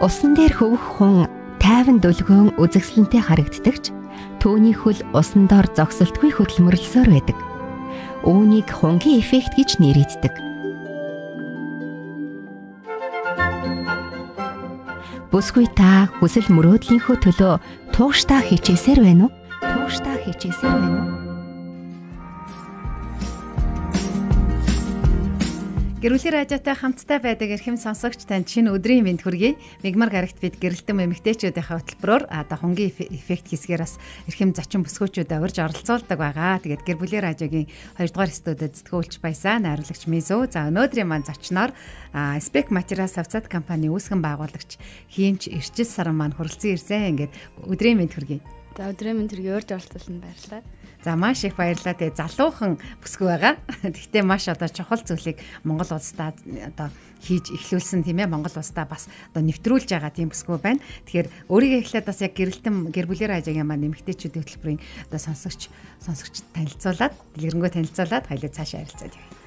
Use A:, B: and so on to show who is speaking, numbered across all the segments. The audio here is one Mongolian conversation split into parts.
A: Усан дээр хөвөх хүн тайван дүлгөөн үзэгсэлэнтэй харагддагч түүний хөл усан доор зогсолтгүй хөдөлмөрлсөөр байдаг. Үүнийг хунгийн эффект гэж нэрийддэг. Бүсгүй та хүсэл мөрөөдлийнхөө төлөө тууштай хичээсээр байна уу? Тууштай хичээсээр байна уу?
B: Гэрүүлэр радиотой хамтдаа байдаг эрхэм сонсогч танд шинэ өдрийн мэнд хүргэе. Мигмар гарагт бид гэрэлтэн эмэгтэйчүүдийнхээ хөтөлбөрөөр хунгийн эффект хийсгээр бас эрхэм зочин бүсгүүчүүдээ урьж оролцуулдаг байгаа. Тэгээд гэр бүлийн радиогийн 2 дугаар студид зэтгүүлч баясаа найруулагч Мизо. За өнөөдрийн маань зочноор Spec Materials Авцад компани үүсгэн байгуулагч Хиймч Эрчил Саран маань хүрэлцэн ирсэн. Ингээд өдрийн мэнд хүргэе.
C: За өдрийн мэнд хүргэе. Урьж оролцуулсанд баярлалаа.
B: За маш их баярлалаа. Тэгээ залуухан бүсгүй байгаа. Гэхдээ маш одоо чухал зүйлийг Монгол улсдаа одоо хийж эхлүүлсэн тийм ээ. Монгол улсдаа бас одоо нэвтрүүлж байгаа тийм бүсгүй байна. Тэгэхээр өөрийгөө эхлээд бас яг гэрэлтэн гэр бүлийн радиогийн маань эмэгтэйчүүдийн хөтөлбөрийн одоо сонсогч танилцуулаад дэлгэрэнгүй танилцуулаад хоёулаа цаашаа харилцаад явъя.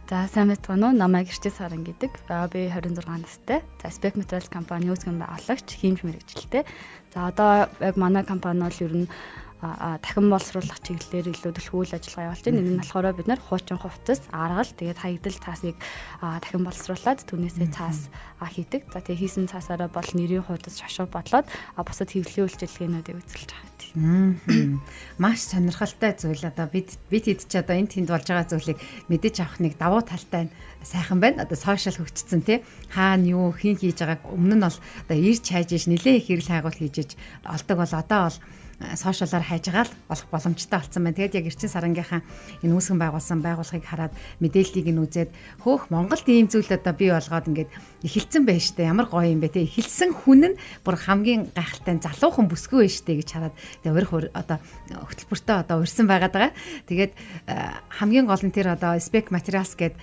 C: За сайн байцгаана уу? Намайг Эрчил Саран гэдэг. Би 26 настай. За Spec Materials компани үүсгэн байгуулагч, хиймч мэргэжилтэй. За одоо яг манай компани бол ер нь дахин боловсруулах чиглэлээр илүү төлхөө үйл ажиллагаа явуулж байна. Энэ нь болохоор бид нар хуучин хувцас, аргал, тэгээд хаягдал цаасыг дахин боловсруулад түүнээсээ цаас хийдэг. За тэгээд хийсэн цаасаараа бол нэрийн хуудас шошуу бодлоод бусад хэвлэлийн үйлчилгээнүүдийг үзүүлж байгаа.
B: Маш сонирхолтой зүйл. Одоо бид хэд ч одоо энэ тэнд болж байгаа зүйлийг мэдэж авах нэг давуу талтай сайхан байна. Одоо сошиал хөгжсөн тий. Хаана юу хийн хийж байгааг өмнө нь бол одоо ирж хайж иж нэлээ их хэрэг хайгуул хийж иж олдог бол одоо бол сошиалаар хайжгаал болох боломжтой болсон байна. Тэгээд яг Эрчил Сарангийнхаа энэ үүсгэн байгуулсан байгууллагыг хараад мэдээллийг нь үзээд хөөх Монголд ийм зүйл одоо бий болгоод ингээд эхэлсэн байна штэ. Ямар гоё юм бэ те. Эхэлсэн хүн нь бүр хамгийн гайхалтай залуухан бүсгүй байна штэ гэж хараад тэгээд одоо хөтөлбөртөө одоо урьсан байгаад байгаа. Тэгээд хамгийн гол нь тэр одоо Spec Materials гэдэг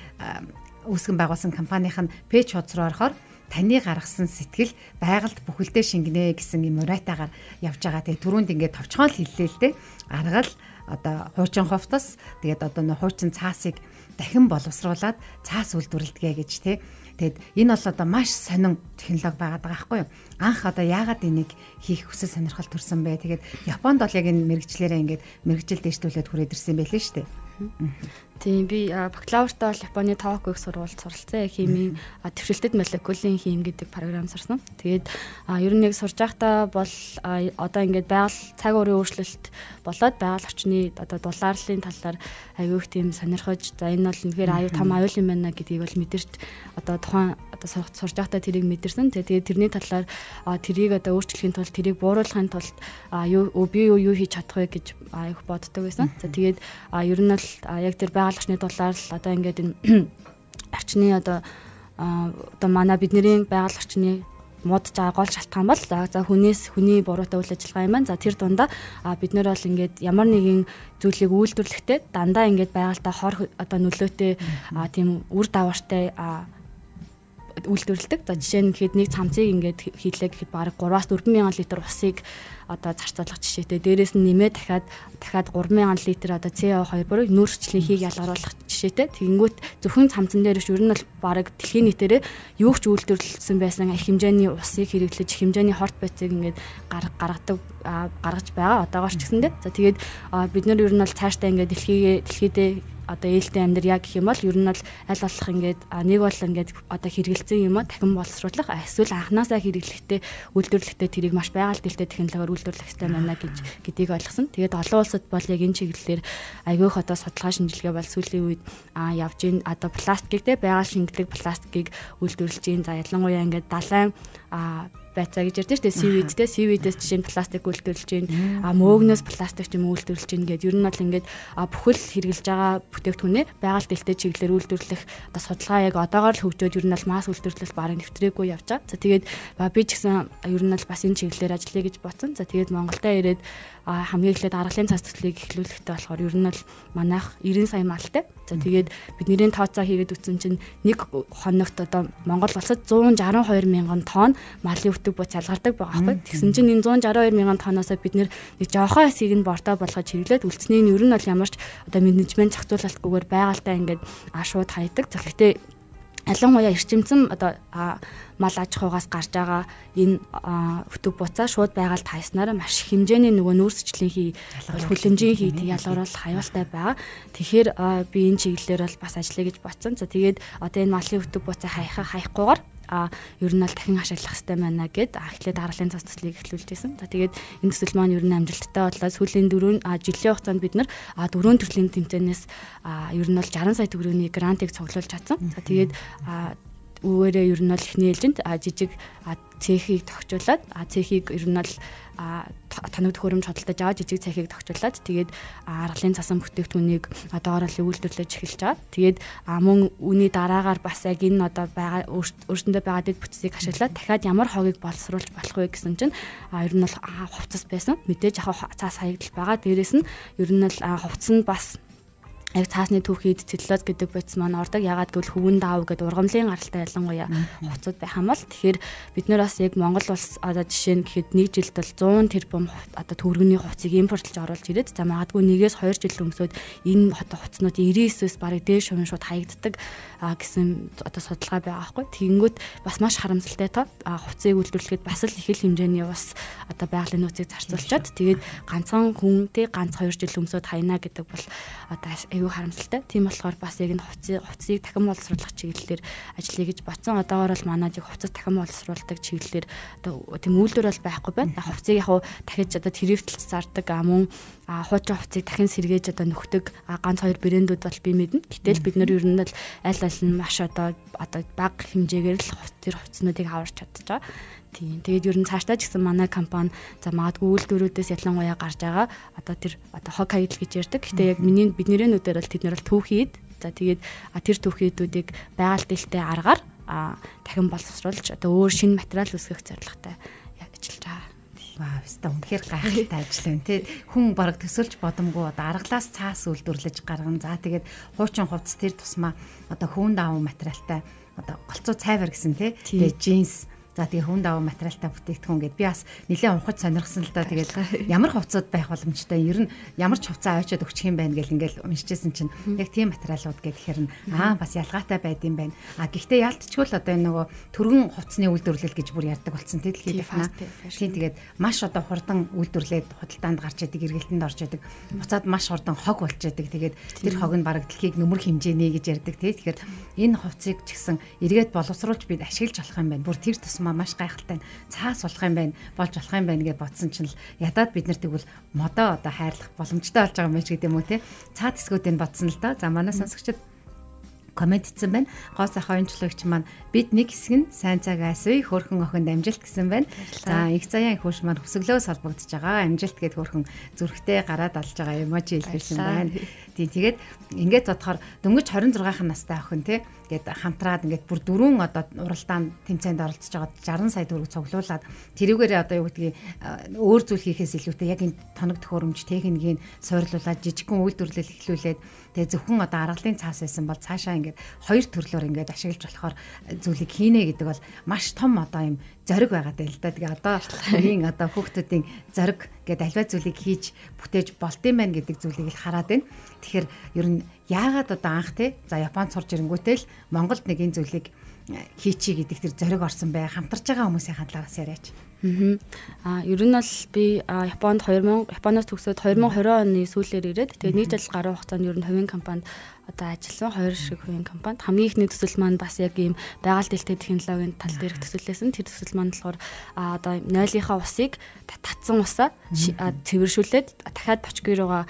B: үүсгэн байгуулсан компанийн пэйж хуудас руу орохоор таны гаргасан сэтгэл байгальд бүхэлдээ шингэнэ гэсэн юм уриатаагаар явж байгаа. Тэгээ түрүүнд ингээд товчхон л хэллээ л дээ. Аргал одоо хуучин хувцас тэгээд одоо хуучин цаасыг дахин боловсруулад цаас үйлдвэрлэдэг гэж тий. Тэгэд энэ бол одоо маш сонин технологи байгаад байгаа байхгүй юу? Анх одоо яагаад энийг хийх хүсэл сонирхол төрсэн бэ? Тэгээд Японд бол яг энэ мэрэгчлэрээ ингээд мэрэгжил дэвштүүлээд хүрээд ирсэн байлээ шүү дээ.
C: Тийм би бакалавртаа бол Японы Токио их сургуульд суралцсан. Химийн төвшөлтөд молекулын хим гэдэг програм сурсан. Тэгээд ер нь яг сурж байхдаа бол одоо ингээд байгаль цаг уурын өөрчлөлт болоод байгаль орчны одоо дулаарлалын талаар аягүй тийм сонирхож за энэ бол үнэхээр аюу том аюул юм байна гэдгийг бол мэдэрч одоо тухайн одоо сурж байхдаа тэрийг мэдэрсэн. Тэгээд тэрний талаар тэрийг одоо өөрчлөхийн тулд тэрийг бууруулахын тулд би юу хийж чадах вэ гэж аяг боддог байсан. За тэгээд ер нь бол яг тэр байгаль орчны дулаалал одоо ингээд энэ орчны одоо манай бидний байгаль орчны муудж байгаа гол шалтгаан бол за хүний буруутай үйл ажиллагаа юм байна. За тэр дундаа бид нэр бол ингээд ямар нэгэн зүйлийг үйлдвэрлэхдээ дандаа ингээд байгальтаа хор одоо нөлөөтэй тийм үр дагавартай үйлдвэрлэдэг. За жишээ нь гэхэд нэг цамцыг ингээд хийлээ гэхэд бараг 3-4 мянган литр усыг одоо зарцуулах жишээтэй. Дээрээс нь нэмээд дахиад 3 мянган литр одоо CO2 буюу нүүрсчлийн хийг ялгаруулах жишээтэй. Тэгэнгүүт зөвхөн цамцан дээр биш ер нь бол бараг дэлхийн нийтээрээ юу ч үйлдвэрлэсэн байсан их хэмжээний усыг хэрэглэж хэмжээний хорт байцыг ингээд гаргаж байгаа. Одоогоор ч гэсэндээ. За тэгээд бид нар ер нь бол цаашдаа ингээд дэлхийдээ одоо ээлтэй амьдр яг гэх юм бол ер нь бол аль болох ингээд нэг бол ингээд одоо хэрэгэлцэн юм а дахин боловсруулах эсвэл анханасаа хэрэглэхдээ үйлдвэрлэхдээ тэрийг маш байгаль дэлтэй технологиор үйлдвэрлэх хэрэгтэй байна гэдгийг ойлгосон. Тэгээд олон улсад бол яг энэ чиглэлээр аягүйх одоо судалгаа шинжилгээ бол сүүлийн үед явж ийн одоо пластикийг те байгаль шингэлэг пластикийг үйлдвэрлэж ийн. За ялангуяа ингээд далайн байцаа гэж ярьдэн шүү дээ. Сивидээс жишээ нь пластик үйлдвэрлэж байна. Мөөгнөөс пластик юм үйлдвэрлэж байна гэдэг. Ер нь бол ингээд бүхэл хэрэгжилж байгаа бүтээгдэхүүнээ байгаль дэлтэй чиглэлээр үйлдвэрлэх одоо судалгаа яг одоогоор л хөгжөөд ер нь бол масс үйлдвэрлэл бараг нэвтрээгүй явж байгаа. За тэгээд би ч гэсэн ер нь бол бас энэ чиглэлээр ажиллая гэж бодсон. За тэгээд Монголдо ирээд хамгийн эхлээд аргалын цас төслийг эхлүүлэхтэй болохоор ер нь бол манайх 90 сая малтай. За тэгээд бидний тооцоо хийгээд үтсэн чинь нэг хоногт одоо Монгол улсад 162 мянган тонн малын өтөг буц ялгардаг байгаа байхгүй. Тэгсэн чинь энэ 162 мянган тонноосоо бид нэг жоохон хэсгийг нь бортоо болгож хэрэглээд үлдсний нь ер нь бол ямарч одоо менежмент зохицуулалтгүйгээр байгальтаа ингээд шууд хайдаг. Гэхдээ ялангуяа эрчимцэн одоо мал аж ахуйгаас гарч байгаа энэ өтөв буцаа шууд байгаль тайснараа маш их хэмжээний нөгөө нүүрсчлэн хүлэмжийн хий ялгаруулах аюултай байгаа. Тэгэхээр би энэ чиглэлээр бол бас ажиллая гэж бодсон. За тэгээд одоо энэ малын өтөв буцаа хайхгүйгээр ер нь бол дахин ашиглах хэрэгтэй байна гэд эхлээд даргалын цас төслийг эхлүүлж байсан. За тэгээд энэ төсөл маань ер нь амжилттай боллоо. Сүүлийн жилийн хугацаанд бид нар 4 төрлийн тэмцээнээс ер нь бол 60 сая төгрөгийн грантыг цуглуулж чадсан. За тэгээд үүгээрээ ер нь бол эхний ээлжинд жижиг цехийг тогтжуулаад цехийг ер нь бол тоног төхөөрөмж хөдөлтөж аваад жижиг цехийг тогтжуулаад тэгээд аргалын цасан бүтээгдэхүүнийг доорол үйлдвэрлэж эхэлж байгаа. Тэгээд мөн үүний дараагаар бас яг энэ одоо байгаа өөрсөндөө байгаа дэд бүтцийг ашиглаад дахиад ямар хогийг боловсруулж болох вэ гэсэн чинь ер нь бол хувцас байсан. Мэдээж яг цаас хаягдал байгаа. Дээрээс нь ер нь бол хувцас нь бас яг цаасны түүхийд целлулоз гэдэг бодис маань ордог. Ягаад гэвэл хөвөн даав гэдэг ургамлын гаралтай ялангуяа хувцад байх юм бол тэгэхээр бид нар бас яг Монгол улс одоо жишээ нь гэхэд нэг жилд бол 100 тэрбум одоо төгрөгийн хувцсыг импортлж оруулж ирээд за магадгүй 1-2 жил өнгөсөөд энэ одоо хувцснууд 99-өөс бараг дээш хувийн шууд хаягддаг гэсэн одоо судалгаа байгаа байхгүй. Тэгэнгүүт бас маш харамсалтай тоо хувцсыг үйлдвэрлэхэд бас л их л хэмжээний бас одоо байгалийн нөөцийг зарцуулчаад тэгээд ганцхан хүн ганц 2 жил өнгөсөөд хайна гэдэг бол одоо харамсалтай. Тийм болохоор бас яг энэ хувцсыг дахин боловсруулах чиглэлээр ажиллая гэж бодсон. Одоогоор бол манайд яг хувцас дахин боловсруулдаг чиглэлээр одоо тийм үйлдвэр бол байхгүй байна. Хувцсыг яг дахиж одоо тэрвэвтэлж зардаг мөн хуучин хувцсыг дахин сэргээж одоо нөхдөг ганц 2 брэндүүд бол би мэднэ. Гэтэл бид нар ер нь л аль нь маш одоо бага хэмжээгээр л тэр хувцснуудыг аварч чадчих байгаа. Тийм. Тэгээд ер нь цаашдаа ч гэсэн манай компани за магадгүй үйлдвэрүүдээс ялангуяа гарч байгаа одоо тэр одоо хог хаягдл гэж ярьдаг. Гэтэ яг бидний нүдээр бол тэд нар бол түүхийд за тэгээд тэр түүхийдүүдийг байгаль дэлтэй аргаар дахин боловсруулж одоо өөр шинэ материал үүсгэх зорилготой ажиллаж байгаа.
B: Вау, өстой үнэхээр гайхалтай ажил байна тий. Хүн бараг төсөлж бодомгүй одоо аргалаас цаас үйлдвэрлэж гарган. За тэгээд хуучин хувцас тэр тусмаа одоо хөвөн даав материалтай одоо голцоо цайвар гэсэн тий. Тэгээд джинс за тэгээ хүн даваа материалтай бүтээгдэхүүн гэд би бас нэлээд унхаж сонирхсан л да. Тэгээд ямар хувцсууд байх боломжтой ер нь ямар ч хувцас аваачаад өгчих юм байна гэл ингээл уншижсэн чинь яг тийм материалууд гэхээр нь бас ялгаатай байд юм байна. Гэхдээ ялтчгүй л одоо энэ нөгөө төргөн хувцсны үйлдвэрлэл гэж бүр ярьдаг болсон дэлхийд байна. Тийм тэгээд маш одоо хурдан үйлдвэрлээд худалдаанд гарч яадаг, эргэлтэнд орж яадаг. Буцаад маш хурдан хог болж яадаг. Тэгээд тэр хог нь бараг дэлхийг нөмөр хэмжээний гэж ярьдаг тий. Тэгэхээр энэ хувцсыг ч гэсэн эргээд боловсруулж бид ашиглаж болох юм байна. Бүр тэр маш гайхалтай цаас болох юм байна, болж болох юм байна гэж бодсон чинь л ядаад бид нар тэгвэл модоо одоо хайрлах боломжтой болж байгаа юм шиг гэдэм үү те. Цаад хэсгүүдийг бодсон л да. За манай сонсогчид комент хийсэн байна. Гоо сайхан оюунчлогч маань бид нэг хэсэг нь сайн цаг айсвэ хөөрхөн охинд амжилт гэсэн байна. За их заяан хөөш маань хөсөглөөс холбогдож байгаа. Амжилт гэд хөөрхөн зүрхтэй гараад алж байгаа эможи илэрсэн байна. Тийм тэгээд ингээд бодохоор дөнгөж 26 настай охин те гээд хамтраад ингээд бүр 4 одоо уралдаанд тэмцээнд оролцож байгаа 60 сая төгрөг цуглуулад тэрүүгээрээ одоо юу гэдгийг өөр зүйл хийхээс илүүтэй яг энэ тоног төхөөрөмж техникийг суурлуулад жижигхэн үйлдвэрлэл эхлүүлээд тэгээ зөвхөн одоо аргалын цаас байсан бол цаашаа ингээд хоёр төрлөөр ингээд ашиглаж болохоор зүйлийг хийнэ гэдэг бол маш том одоо юм зориг байгаа даа л да. Тэгээ одоо энэ одоо хүүхдүүдийн зориг гэдэг альва зүйлийг хийж бүтээж болдсон байх гэдэг зүйлийг л хараад байна. Тэгэхээр ер нь яагаад одоо анх те за Японд сурж ирэнгүүтэл л Монголд нэг энэ зүйлийг хийчий гэдэг тэр зориг орсон бай хамтарч байгаа хүмүүсийн хандлагаас яриач.
C: Ер нь бол би Японоос төгсөөд 2020 оны сүүлээр ирээд тэгээд нэг жил гаруй хугацаанд ер нь хувийн компанид одоо ажилласан 2 шиг хувийн компанид хамгийн ихний төсөл маань бас яг ийм байгаль дэлтэй технологийн тал дээрх төсөлөөсөн. Тэр төсөл маань болохоор одоо нойлынхаа усыг татсан усаа цэвэршүүлээд дахиад бочгүй руугаа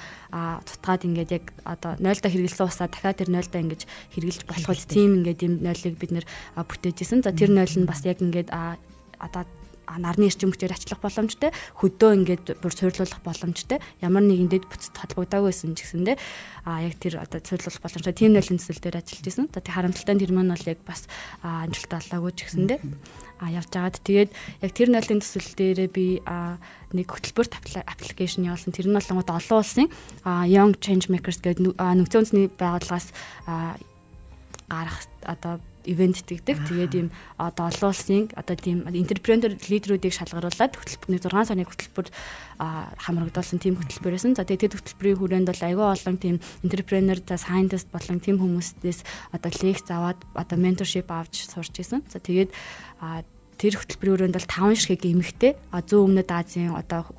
C: цутгаад ингээд яг одоо нойлдоо хэрэглэсэн усаа дахиад тэр нойлдоо ингэж хэрэглэж болоход тийм ингээд ийм нойлыг бид нэр бүтээжсэн. За тэр нойл нь бас яг ингээд одоо нарны эрчим хүчээр ачлах боломжтой, хөдөө ингээд бүр суйрлуулах боломжтой. Ямар нэгэн дэд бүтцэд холбогдоогүй байсан ч гэсэндээ яг тэр одоо суйрлуулах боломжтой тийм нойлын төсөл дээр ажиллаж байсан. Одоо тэр харамсалтай тэр маань бол яг бас амжилттай болоогүй ч гэсэндээ явж байгаад тэгээд яг тэр нойлын төсөл дээрээ би нэг хөтөлбөрт аппликейшн явуулсан. Тэр нь бол олон улсын Young Change Makers гэдэг нөхцөл үндэсний байгууллагаас гарах одоо ивент тэгдэг. Тэгээд ийм одоо олон улсын одоо тийм энтерпренер лидерүүдийг шалгаруулад хөтөлбөрний 6 сарны хөтөлбөр хамрагдуулсан тийм хөтөлбөр байсан. За тэгээд хөтөлбөрийн хүрээнд бол аюул олон тийм энтерпренер, за сайентист болон тийм хүмүүстээс одоо лекц аваад одоо менторшип авч сурч исэн. За тэгээд тэр хөтөлбөрийн хүрээнд бол 5 ширхэг эмэгтэй зүүн өмнөд Азийн одоо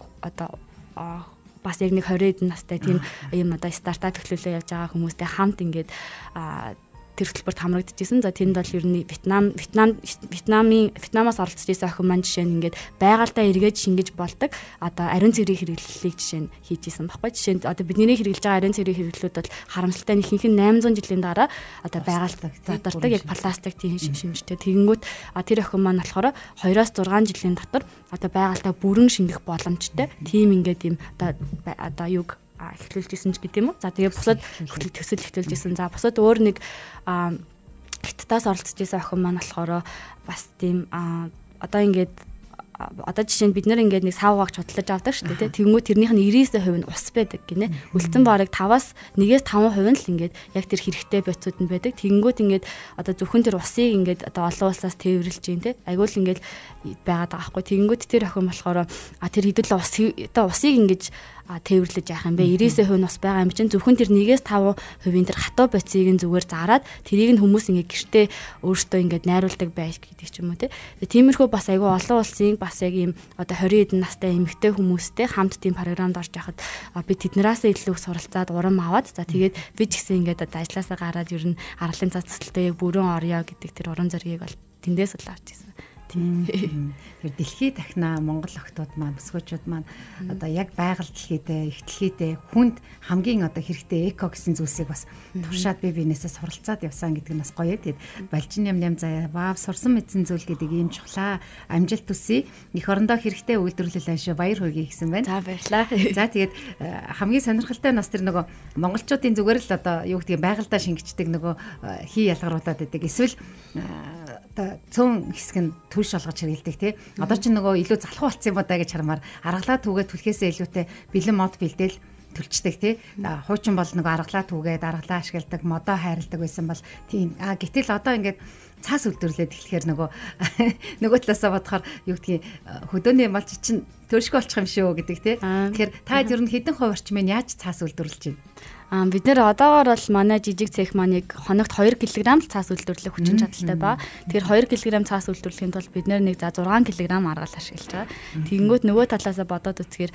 C: бас яг нэг 20 настай тийм юм одоо стартап төлөвлөлөө явж байгаа хүмүүстэй хамт ингээд тэр хөтөлбөрт хамрагдчихсэн. За тэнд бол ер нь Вьетнамаас оролцож ирсэн охин маань жишээ нь ингээд байгальдаа эргээд шингэж болдог одоо ариун цэврийн хэрэглэлийг жишээ нь хийж исэн баггүй. Жишээ нь одоо бидний хэрэглэж байгаа ариун цэврийн хэрэглэлүүд бол харамсалтай нэг ихэнх нь 800 жилийн дараа одоо байгальд задардаг яг пластик тийм шимжтэй. Тэгэнгүүт тэр охин маань болохоор 2-6 жилийн дотор одоо байгальдаа бүрэн шингэх боломжтой. Тийм ингээд юм одоо юг эхлүүлжсэн ч гэдэг юм уу. За тэгээ бусад төсөл эхлүүлжсэн. За бусад өөр нэг хятадаас оролцож байсан охин маань болохоор бас тийм одоо ингээд одоо жишээ нь бид нэр ингээд нэг савгааг чудлаж авдаг шүү дээ. Тэгэнгүүт тэрнийх нь 99% нь ус байдаг гинэ. Үлдсэн бараг 5-аас 1-5% нь л ингээд яг тэр хэрэгтэй байцууд нь байдаг. Тэгэнгүүт ингээд одоо зөвхөн тэр усыг ингээд одоо олон улсаас тээвэрлж гин те. Айгуул ингээд байгаад байгаа байхгүй. Тэгэнгүүт тэр охин болохоор тэр хэдүүл усыг ингээд тээвэрлэж яах юм бэ? 99% ус байгаа юм чинь зөвхөн тэр 1-5% тэр хатуу байцыг нь зүгээр зараад тэрийг нь хүмүүс ингээд гэртээ өөртөө ингээд найруулдаг байж гэдэг ч юм уу те. Тиймэрхүү бас айгүй олон улсын бас яг ийм одоо 20 хэдэн настай эмэгтэй хүмүүстэй хамт тийм програмд орж яхад би тэднээс илүү их суралцаад урам аваад за тэгээд би ч гэсэн ингээд одоо ажилласаа гараад ер нь аргалын цацалтаа яг бүрэн орё гэдэг тэр урам зоригийг бол тэндээс л авч ирсэн. Тэр дэлхий дахна Монгол охтууд маань бүсгүүчүүд маань одоо яг байгаль дэлхийдээ их дэлхийдээ хүнд хамгийн одоо хэрэгтэй эко гэсэн зүйлсийг бас туршаад биенээсээ суралцаад явсан гэдэг нь бас гоё. Тэгээд балжин ям заяа вау сурсан мэдсэн зүйл гэдэг ийм чухлаа амжилт төсөй их орондоо хэрэгтэй үйлдвэрлэл ашиг баяр хүргэе гэсэн байна. За баярлалаа.
B: За тэгээд хамгийн сонирхолтой нас тэр нөгөө монголчуудын зүгээр л одоо юу гэдэг байгальдаа шингэждэг нөгөө хий ялгаруулад байдаг. Эсвэл одоо цөөн хэсэг нь түлш олгож хэрэгэлдэг тий. Одоо ч нөгөө илүү залхуу болсон юм удаа гэж хармаар аргалаа түгээд түлхээсээ илүүтэй бэлэн мод бэлдээл төлчдөг тий. Хуучин бол нөгөө аргалаа түгээд аргалаа ашигладаг, модоо хайрладаг байсан бол тийм. Гэтэл одоо ингээд цаас үлдвэрлээд эхлэхээр нөгөө талаасаа бодохоор юу гэдгийг хөдөөний малч чинь төршгөө олчих юм шүү гэдэг тий. Тэгэхээр та ер нь хэдэн хувь орчмын яаж цаас үлдвэрлэж байна?
C: Бид нэр одоогоор бол манай жижиг цех маань хоногт 2 кг л цаас үйлдвэрлэх хүчин чадалтай ба. Тэгэхээр 2 кг цаас үйлдвэрлэхийн тулд бид нэр нэг 6 кг аргал ашиглаж байгаа. Тэгэнгүүт нөгөө талаасаа бодоод үзэхээр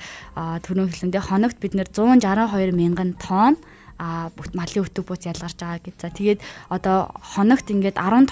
C: түрүүн хэлсэндээ хоногт бид нэр 162 мянган тонн малын өтөг бууц ялгарч байгаа гэж. За тэгээд одоо хоногт ингээд 10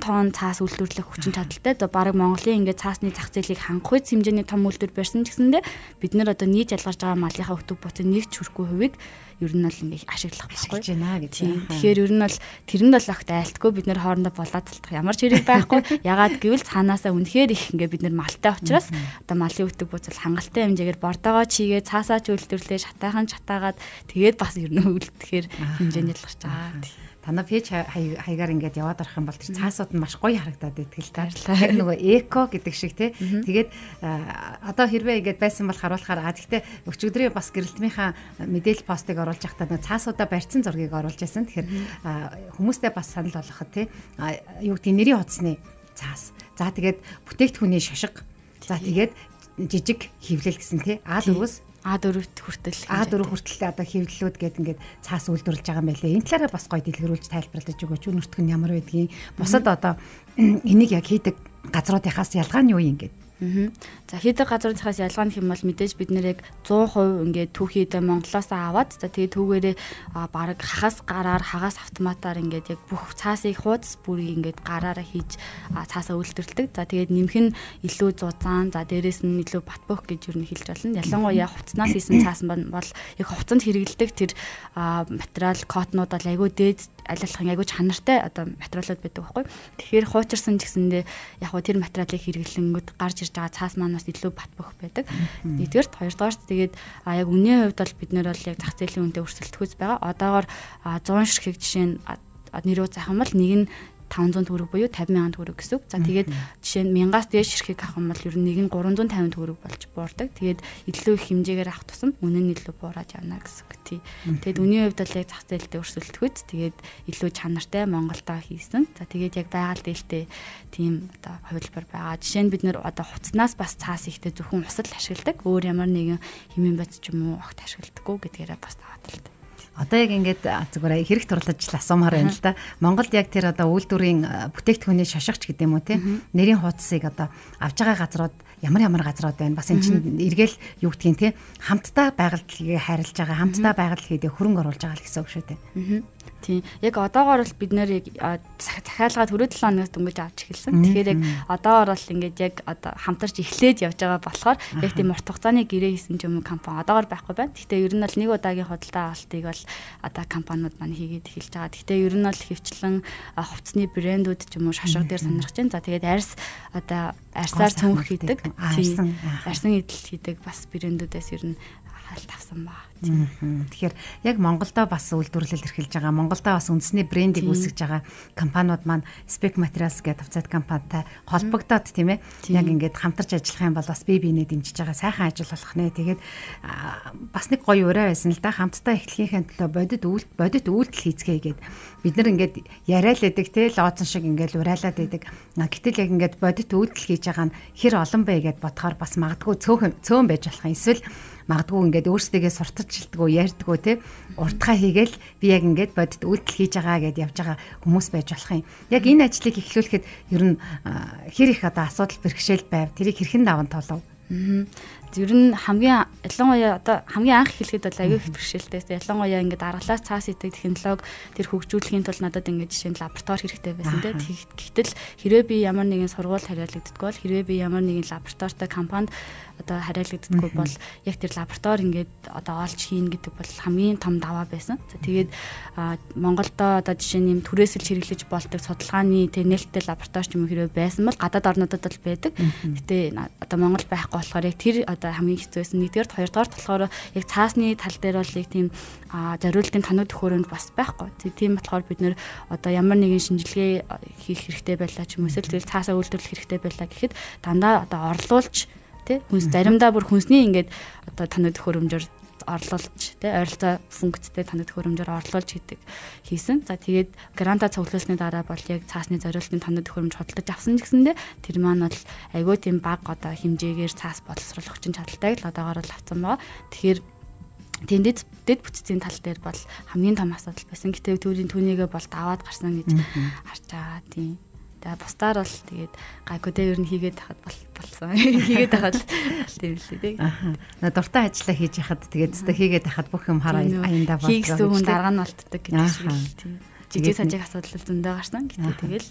C: тонн цаас үйлдвэрлэх хүчин чадалтай. Одоо баг Монголын ингээд цаасны зах зээлийг хангах үе хэмжээний том үйлдвэр барьсан ч гэсэндээ бид нэр одоо нийт ялгарч байгаа малынхаа өтөг бууцын нэг ч хүрэхгүй хувийг ер нь бол ингээд ашиглах байхгүй байна гэж. Тэгэхээр ер нь бол тэрэнд бол огт айлтгүй бид нэр хоорондоо болоод талтах ямар ч хэрэг байхгүй. Ягаад гэвэл цаанаасаа үнэхээр их ингээд бид нэр малтай учраас одоо малын өтөг бууц хангалттай хэмжээгээр бордоогоо чигээ цаасаа ч үйлдвэрлээ шатаахан чатаагаад тэгээд бас ер нь үлдэхээр хэмжээний ялгарч байгаа.
B: Танаа пэйж хаягаар ингээд яваад орох юм бол тэр цаасууд нь маш гоё харагдаад байдаг л та. Яг нөгөө эко гэдэг шиг тий. Тэгээд одоо хэрвээ ингээд байсан бол харуулахаар гэхдээ өчигдрийн бас гэрэлтмийнхаа мэдээлэл постыг оруулж байхдаа нөгөө цаасуудаа барьсан зургийг оруулж байсан. Тэгэхээр хүмүүстэй бас санал болгоход тий. Юу гэдэг нэрийн утасны цаас. За тэгээд бүтээгдэхүүний шошго. За тэгээд жижиг хөвлөл гэсэн тий. А4-өөс
C: А4 хүртэл
B: одоо хэвлэлүүд гээд ингээд цаас үйлдвэрлэж байгаа юм байлээ. Энэ талаараа бас гоё дэлгэрүүлж тайлбарлаж өгөөч. Өнөртг нь ямар байдгийг бусад одоо энийг яг хийдэг газруудынхаас ялгаа нь юу юм гээд.
C: За хийдэг газруудынхаас ялгаа нь хэм бол мэдээж бид нэр яг 100% ингээд түүхийдээ Монголоос аваад за тэгээ түүгээрээ баг хагас автоматаар ингээд яг бүх цаасыг хуудас бүрийг ингээд гараараа хийж цаасаа үйлдвэрлэдэг. За тэгээд нэмэх нь илүү зузаан, за дээрэс нь илүү батбөх гэж юу хэлж болно. Ялангуяа хувцснаас хийсэн цаас бол яг хувцанд хэрэглэдэг тэр материал котнууд бол айгүй дээд алилахын айгүй чанартай одоо материалууд байдаг байхгүй. Тэгэхээр хуучирсан ч гэсэндээ яг хөө тэр материалыг хэрэглэнгүүд гарч ирж байгаа цаас маань бас илүү батбөх байдаг. Нэгдүгээрт, хоёрдугаарт тэгээд яг үнийн хувьд бол бид нэр бол яг зах зээлийн үнэтэй өрсөлдөхөс байгаа. Одоогоор 100 ширхэг жишээ нь нэрөө заах юм бол нэг нь 500 төгрөг буюу 50,000 төгрөг гэсэн үг. За тэгээд жишээ нь 1000-аас дээш ширхэг авах юм бол ер нь нэг нь 350 төгрөг болж буурдаг. Тэгээд илүү их хэмжээгээр авах тусам үнэ нь илүү буураад явна гэсэн үг тий. Тэгээд үнийн хувьд бол яг зах зээлдээ өрсөлдөхөд тэгээд илүү чанартай Монголдоо хийсэн. За тэгээд яг байгаль дээлтэй тийм одоо хувилбар байгаа. Жишээ нь бид нэр одоо хуцнаас бас цаас ихтэй зөвхөн усал ашигладаг. Өөр ямар нэгэн хэмээн бац ч юм уу огт ашигладаггүй гэдгээрээ бас тавааталтай.
B: Одоо яг ингээд зүгээр хэрэг турлаж асуумаар байна л да. Монголд яг тэр одоо үйлдвэрийн бүтээгдэхүүний шошгоч гэдэг юм уу те. Нэрийн хуудсыг одоо авж байгаа газрууд ямар газрууд байна. Бас эн чинь эргээл юу гэдгийг те. Хамтдаа байгаль дэлхийгээ хайрлаж байгаа, хамтдаа байгаль дэлхийдээ хөрөнгө оруулж байгаа л гэсэн үг шүү дээ.
C: Тийм. Яг одоогоор бол бид нэр захиалгаа түрүү 7 хоногоос дөнгөж авч эхэлсэн. Тэгэхээр яг одоогоор бол ингээд яг одоо хамтарч эхлээд явж байгаа болохоор яг тийм урт хугацааны гэрээ хийсэн ч юм уу компани одоогоор байхгүй байна. Гэхдээ ер нь бол нэг удаагийн худалдаа авалтыг бол одоо компаниуд маань хийгээд эхэлж байгаа. Гэхдээ ер нь бол хөвчлэн хувцсны брэндүүд ч юм уу шошго дээр сонирхож байна. За тэгээд арьсаар цөмх хийдэг. Арьсан идэл хийдэг бас брэндүүдээс ер нь халт авсан баа. Тэгэхээр яг Монголдо бас үйлдвэрлэл эрхэлж байгаа. Монголдо бас үндэсний брендийг үүсгэж байгаа компаниуд маань Spec Materials гэдэг тавцад компанитай холбогдоод тийм ээ. Яг ингээд хамтарч ажиллах юм бол бас бие биенээ дэмжиж байгаа сайхан ажил болох нэ. Тэгээд бас нэг гоё ураа байсан л да. Хамтдаа эхлэхийн төлөө бодит үйлдэл хийцгээе гээд бид нар ингээд яриад байдаг те лооцсон шиг ингээд урайлаад байдаг. Гэтэл яг ингээд бодит үйлдэл хийж байгаа нь хэр олон бэ гэд бодохоор бас магадгүй цөөн байж болох юм. Эсвэл магадгүй ингээд өөрсдөө сурталчилдгөө ярьдгөө те уртхаа хийгээл би яг ингээд бодит үйлдэл хийж байгаа гэд явж байгаа хүмүүс байж болох юм. Яг энэ ажлыг эхлүүлэхэд ер нь хэр их одоо асуудал бэрхшээл байв тэрийг хэрхэн даван туулав? Ер нь хамгийн анх эхлэхэд бол аягүй их бэрхшээлтэй. Ялангуяа ингээд аргалаас цаас идэг технологи тэр хөгжүүлэхийн тулд надад ингээд жишээ нь лаборатори хэрэгтэй байсан те. Гэтэл хэрвээ би ямар нэгэн сургууль хариалагддаггүй бол хэрвээ би ямар нэгэн лабораторитой компанид одоо хариалагддаггүй бол яг тэр лаборатори ингээд одоо олж хийн гэдэг бол хамгийн том даваа байсан. За тэгээд Монголдо одоо жишээ нь юм түрээсэл хэрэглэж болдог судалгааны тэр нээлттэй лаборатори ч юм уу хэрвээ байсан бол гадаад орнуудад бол байдаг. Гэтэ одоо Монгол байхгүй болохоор яг тэр одоо хамгийн хэцүү байсан. Нэгдүгээр хоёрдугаар болохоор яг цаасны тал дээр бол яг тийм зориултын тоног төхөөрөмж бас байхгүй. Тийм болохоор бид нэр одоо ямар нэгэн шинжилгээ хийх хэрэгтэй байлаа ч юм уу эсвэл цаасаа үйлдвэрлэх хэрэгтэй байлаа гэхэд дандаа одоо орлуулж тий хүнс заримдаа бүр хүнсний ингээд одоо тоног төхөөрөмжөөр орлуулж тий ойролцоо функцтэй тоног төхөөрөмжөөр орлуулж хийсэн. За тэгээд гранта цуглуулсны дараа бол яг цаасны зориултын тоног төхөөрөмж худалдаж авсан ч гэсэндээ тэр маань бол айгүй тийм баг одоо хэмжээгээр цаас боловсруулах хүчин чадалтай л одоогоор л авсан байгаа. Тэгэхээр тэндэд бүтцийн тал дээр бол хамгийн том асуудал байсан. Гэтэ түүнийгээ бол даваад гарсан гэж харж байгаа тийм. Тэгээ бусдаар бол тэгээд гайгүй дээр ер нь хийгээд хахад болсон. Хийгээд хахад тийм л үү. Аа. Дуртай ажиллаа хийж яхад тэгээд өстө хийгээд хахад бүх юм хараа аяндаа болдог. Хийгсэн хүн дарга нь болтдог гэдэг шиг л тийм. Жижиг сажиг асуудал зөндөө гарсан. Гэтэ тэгэл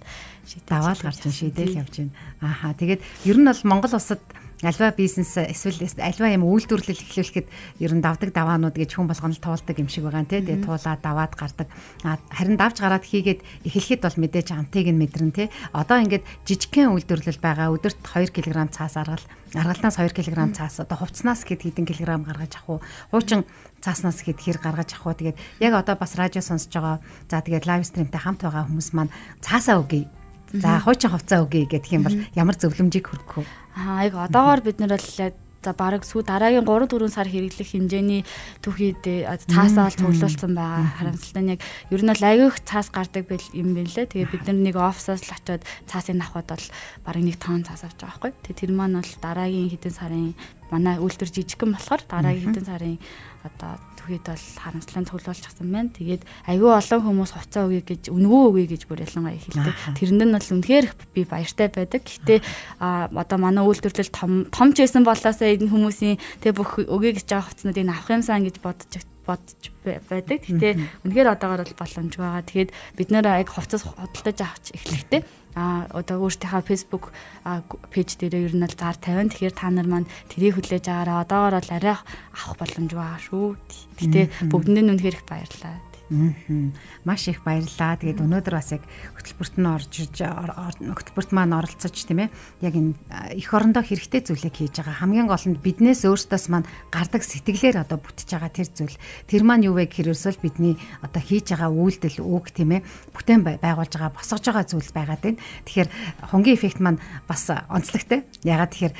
C: даваад гарч шийдээл явж байна. Ааха. Тэгээд ер нь бол Монгол улсад альва бизнес эсвэл альва юм үйлдвэрлэл эхлүүлэхэд ер нь давдаг даваанууд гэж хүн болгоно туулдаг юм шиг байгаа нэ. Тэгээ туулаад даваад гардаг. Харин давж гараад хийгээд эхлэхэд бол мэдээж амтыг нь мэдэрнэ те. Одоо ингээд жижигхэн үйлдвэрлэл байгаа. Өдөрт 2 кг цаас аргалтнаас 2 кг цаас одоо хувцснаас хэд хэдэн килограмм гаргаж авах уу? Хуучин цааснаас хэд хэр гаргаж авах уу? Тэгээд яг одоо бас радио сонсож байгаа. За тэгээд лайв стримтэй хамт байгаа хүмүүс маань цаасаа өгье. За хуучин хувцас өгье гэдэг юм бол ямар зөвлөмжийг хүргэх вэ? Яг одоогоор бид нар бол за бараг дараагийн 3-4 сар хэрэглэх хэмжээний түүхийд цаасаа бол цуглуулсан байгаа. Харамсалтай нь яг ер нь бол аягүй их цаас гардаг юм байна лээ. Тэгээ бид нар нэг офисоос л очиод цаасын авахд бол бараг 1 тонн цаас авч байгаа байхгүй. Тэгээ тэр маань бол дараагийн хэдэн сарын манай үйлдвэр жижигхэн болохоор дараагийн хэдэн сарын одоо түүхийд бол харамслан цуглуулчихсан байна. Тэгээд аягүй олон хүмүүс хувцас өгье гэж үнгүү өгье гэж бүр ялангуяа хэлдэг. Тэрэнд нь бол үнэхээр би баяртай байдаг. Гэхдээ одоо манай үйлдвэрлэл том ч байсан болоосаа энэ хүмүүсийн тэг бүх өгье гэж байгаа хувцснуудыг авах юмсан гэж бодож байдаг. Гэхдээ үнэхээр одоогоор бол боломжгүй байгаа. Тэгээд бид нэр яг хувцас худалдаж авч эхлэхдээ одоо өөртөөхөө Facebook пэйж дээр ер нь л зар 50. Тэгэхээр та нар маань тэрийг хүлээж аваараа одоогоор бол арай авах боломжгүй байгаа шүү. Гэтэ бүгдэнд нь үнэхээр их баярлалаа.
B: Маш их баярлалаа. Тэгээд өнөөдөр бас яг хөтөлбөрт маань оролцож тийм ээ. Яг энэ эх орондоо хэрэгтэй зүйлийг хийж байгаа. Хамгийн гол нь биднээс өөрсдөөс маань гардаг сэтгэлээр одоо бүтэж байгаа тэр зүйл. Тэр маань юу вэ гэхээр ерөөсөө бидний одоо хийж байгаа үйлдэл үг тийм ээ. Бүтээн байгуулж байгаа босгож байгаа зүйл байгаад байна. Тэгэхээр хонгийн эффект маань бас онцлогтой. Ягаад тэгэхээр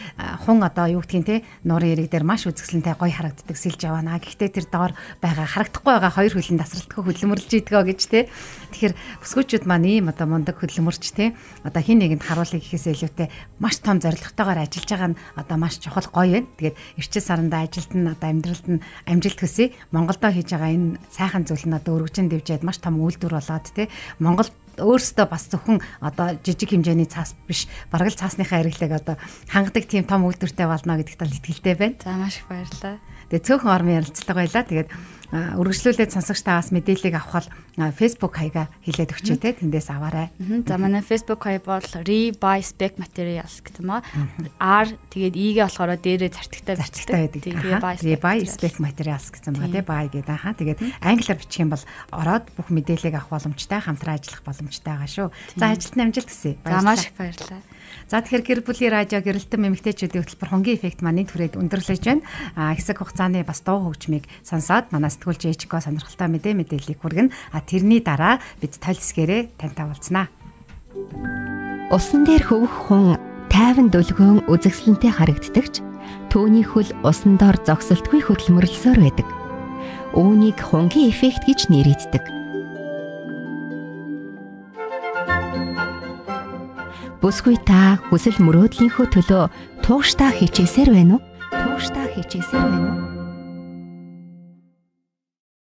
B: хун одоо юу гэдгийг те нуурын ирэг дээр маш үзэсгэлэнтэй гоё харагддаг сэлж явна. Гэхдээ тэр доор байгаа харагдахгүй байгаа хоёр хөлн тасралтгүй хөдөлмөрлж идэгөө гэж те. Тэгэхээр бүсгүүчүүд маань ийм одоо мундаг хөдөлмөрч те. Одоо хин нэгэнд харуулъя гэхээс илүүтэй маш том зорилготойгоор ажиллаж байгаа нь одоо маш чухал гоё байна. Тэгээд эрчил саранда ажилд нь одоо амьдралд нь амжилт хүсье. Монголдо хийж байгаа энэ сайхан зүйл нь одоо өргөжин дэвжээд маш том үйлдвэр болоод те. Монгол өөрөөсөө бас зөвхөн одоо жижиг хэмжээний цаас биш бараг л цаасныхаа хэрэглээг одоо хангадаг тийм том үйлдвэртэй болно гэдэгт л итгэлтэй байна.
C: За маш их баярлалаа.
B: Тэгээ цөөхөн ормын ярилцлага байлаа. Тэгээд үргэлжлүүлээд сонсогч таас мэдээллийг авах бол Facebook хаягаа хэлээд өгчээ те тэндээс аваарай.
C: За манай Facebook хаяг бол Rebuy Spec Materials гэдэг юм аа. R тэгээд E-гээ болохоор дээрээ зартагтай
B: байдаг. Rebuy Spec Materials гэсэн байгаа те buy гэдэг хаа. Тэгээд англиар бичих юм бол ороод бүх мэдээллийг авах боломжтой, хамтран ажиллах боломжтой байгаа шүү. За ажилд амжилт хүсье.
C: За маш их баярлалаа.
B: За тэгэхээр гэр бүлийн радио гэрэлтэн эмэгтэйчүүдийн хөтөлбөр хонгийн эффект маань түрээд өндөрлөж байна. Хэсэг хугацааны бас дуу хөгжмийг сонсоод манай сэтгүүлч Эчко сонирхолтой мэдээллийг хүргэнэ. Тэрний дараа бид тойл хэсгээрээ тантай уулзнаа.
A: Усан дээр хөвөх хүн тайван дөлгөөн үзэсгэлэнтэй харагддагч түүний хөл усан дор зогсолтгүй хөдөлмөрлсөөр байдаг. Үүнийг хонгийн эффект гэж нэрийддэг. Бүсгүй та хүсэл мөрөөдлийнхөө төлөө тууштай хичээсээр байна уу?